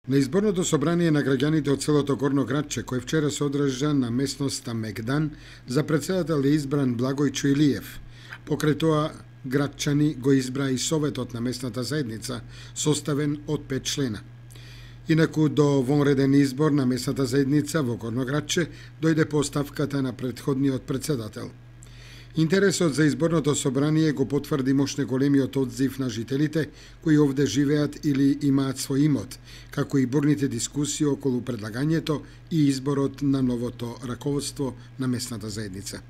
На изборното собрание на граѓаните од селото Горно Градче, кој вчера се одржа на местноста Мегдан, за председател е избран Благој Чуилиев. Покрај тоа, градчани го избра и советот на местната заедница, составен од 5 члена. Инаку до вонреден избор на местната заедница во Горно Градче дојде по оставката на претходниот председател. Интересот за изборното собрание го потврди мощно големиот одзив на жителите кои овде живеат или имаат свој имот, како и бурните дискусии околу предлагањето и изборот на новото раководство на местната заедница.